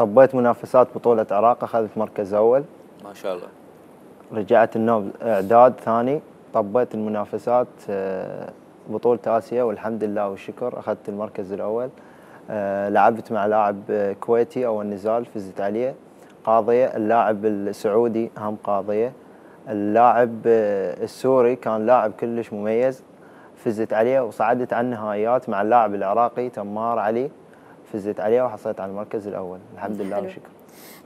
طبيت منافسات بطولة عراق أخذت مركز أول. ما شاء الله. رجعت النوب إعداد ثاني، طبيت المنافسات بطولة آسيا والحمد لله والشكر أخذت المركز الأول. لعبت مع لاعب كويتي أول نزال فزت عليه قاضية. اللاعب السعودي هم قاضية. اللاعب السوري كان لاعب كلش مميز فزت عليه وصعدت على النهائيات مع اللاعب العراقي تمار علي، فزت عليه وحصلت على المركز الأول الحمد لله والشكر.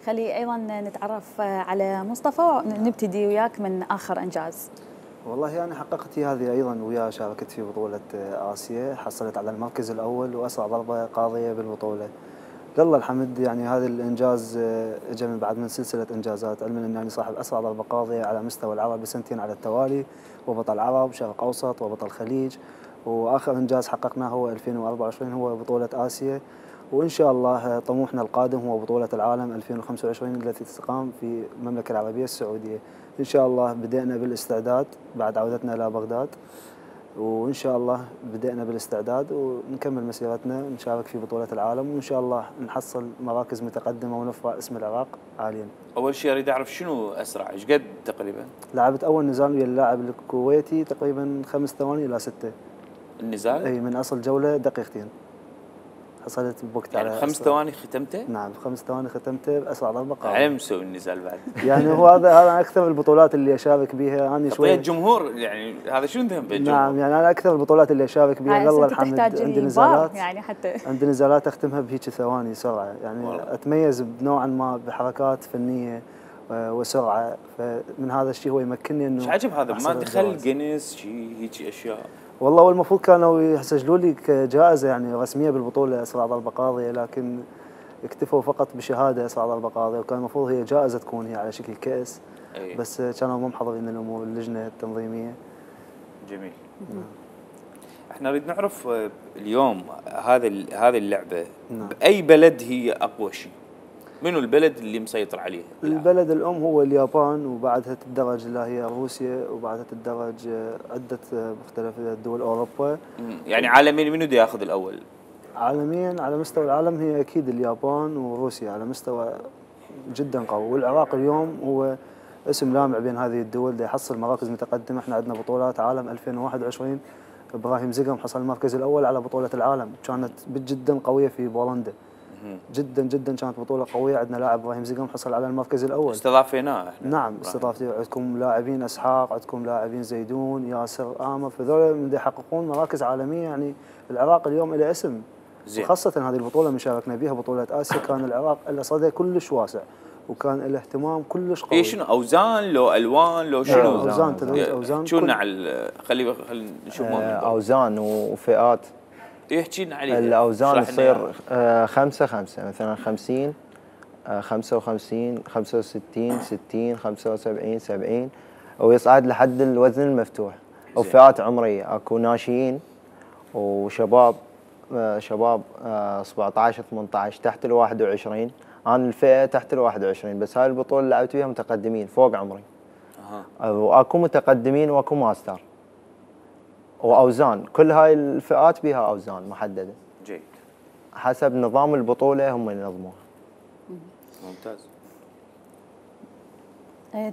خلي أيضا نتعرف على مصطفى ونبتدي وياك من آخر إنجاز. والله أنا حققت هذه أيضا وياه، شاركت في بطولة آسيا، حصلت على المركز الأول وأسرع ضربة قاضية بالبطولة. لله الحمد، يعني هذا الإنجاز اجى من بعد من سلسلة إنجازات، علما أنني صاحب أسرع ضربة قاضية على مستوى العرب بسنتين على التوالي، وبطل عرب شرق أوسط وبطل خليج. وآخر إنجاز حققناه هو 2024 هو بطولة آسيا، وإن شاء الله طموحنا القادم هو بطولة العالم 2025 التي تقام في المملكة العربية السعودية. إن شاء الله بدأنا بالاستعداد بعد عودتنا إلى بغداد، وإن شاء الله بدأنا بالاستعداد ونكمل مسيرتنا نشارك في بطولة العالم، وإن شاء الله نحصل مراكز متقدمة ونرفع اسم العراق عاليا. أول شيء أريد أعرف شنو أسرع، إيش قد تقريبا؟ لعبت أول نزال ويا اللاعب الكويتي تقريبا 5 ثواني إلى 6. النزال؟ أي من أصل جولة دقيقتين. حصلت بوقت يعني على 5 ثواني ختمته؟ نعم 5 ثواني ختمته بأسرع ضربة قاضية. على مسوي النزال بعد. يعني هو هذا أكثر البطولات اللي أشارك بها أنا شوي. الجمهور يعني هذا شنو ذنب الجمهور؟ نعم يعني أنا أكثر البطولات اللي أشارك بها لله الحمد عندي نزالات يعني حتى عندي نزالات أختمها بهيك ثواني سرعة، يعني والله. أتميز بنوعا ما بحركات فنية وسرعة، فمن هذا الشيء هو يمكنني إنه ايش عجب هذا ما دخل جينيس شيء هيك أشياء. والله والمفروض كانوا يسجلوا لي كجائزة يعني رسمية بالبطولة أسرع ضربة قاضية، لكن اكتفوا فقط بشهادة أسرع ضربة قاضية، وكان المفروض هي جائزة تكون هي على شكل كأس. أيه. بس كانوا مو محضرين الأمور اللجنة التنظيمية. جميل. احنا نريد نعرف اليوم هذه اللعبة بأي بلد هي أقوى شيء؟ منو البلد اللي مسيطر عليه؟ البلد الأم هو اليابان، وبعدها تدرج اللي هي روسيا، وبعدها تدرج عدة مختلف دول أوروبا. يعني عالميا منو بده ياخذ الأول؟ عالميا على مستوى العالم هي أكيد اليابان وروسيا على مستوى جدا قوي، والعراق اليوم هو اسم لامع بين هذه الدول دا يحصل مراكز متقدمة. احنا عندنا بطولات عالم 2021 إبراهيم زقم حصل المركز الأول على بطولة العالم، كانت جدا قوية في بولندا. جدا جدا كانت بطولة قوية، عندنا لاعب إبراهيم زقم حصل على المركز الأول. استضافيناه احنا. نعم استضافتي، عندكم لاعبين اسحاق، عندكم لاعبين زيدون، ياسر آمر، فذول من يحققون مراكز عالمية. يعني العراق اليوم له اسم، وخاصة هذه البطولة اللي شاركنا بها بطولة آسيا كان العراق له صدى كلش واسع، وكان له اهتمام كلش قوي. شنو اوزان لو الوان لو شنو؟ اوزان تدريج اوزان. شو خلي نشوف اوزان وفئات. يحكي لنا عليها. الاوزان تصير 5 مثلا 50 55 65 60 75 70 ويصعد لحد الوزن المفتوح. وفئات عمريه اكو ناشئين وشباب، شباب 17 18 تحت ال 21. انا الفئه تحت ال 21، بس هاي البطوله اللي لعبت فيها متقدمين فوق عمري. واكو متقدمين واكو ماستر. واوزان كل هاي الفئات بها اوزان محدده. جيد. حسب نظام البطوله هم ينظموها. ممتاز.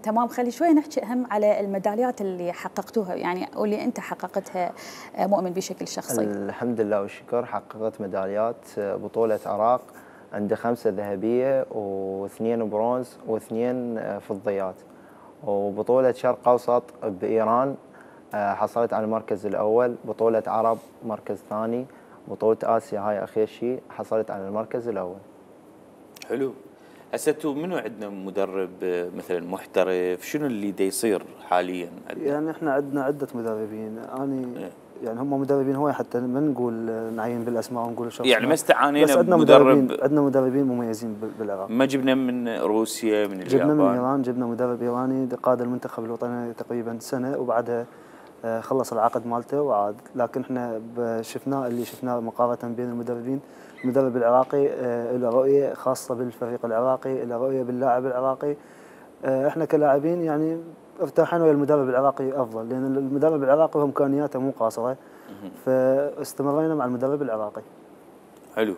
تمام. خلي شوي نحكي أهم على الميداليات اللي حققتوها، يعني واللي أنت حققتها مؤمن بشكل شخصي. الحمد لله والشكر حققت ميداليات. بطولة عراق عندي 5 ذهبية و2 برونز و2 فضيات. وبطولة شرق أوسط بإيران حصلت على المركز الأول. بطولة عرب مركز ثاني. بطولة آسيا هاي أخير شيء حصلت على المركز الأول. حلو. هسه منو عندنا مدرب مثلا محترف؟ شنو اللي دا يصير حاليا عندنا؟ يعني احنا عندنا عده مدربين، يعني هم مدربين هواي حتى ما نقول نعين بالاسماء ونقول شخص، يعني ما استعانينا بمدرب. عندنا مدربين مميزين بالعراق. ما جبنا من روسيا من اليابان؟ جبنا من ايران، جبنا مدرب ايراني قاد المنتخب الوطني تقريبا سنه، وبعدها خلص العقد مالته وعاد. لكن احنا اللي شفناه مقارنه بين المدربين، المدرب العراقي له رؤيه خاصه بالفريق العراقي، له رؤيه باللاعب العراقي. احنا كلاعبين يعني ارتاحنا ويا المدرب العراقي افضل، لان المدرب العراقي امكانياته مو قاصره، فاستمرينا مع المدرب العراقي. حلو.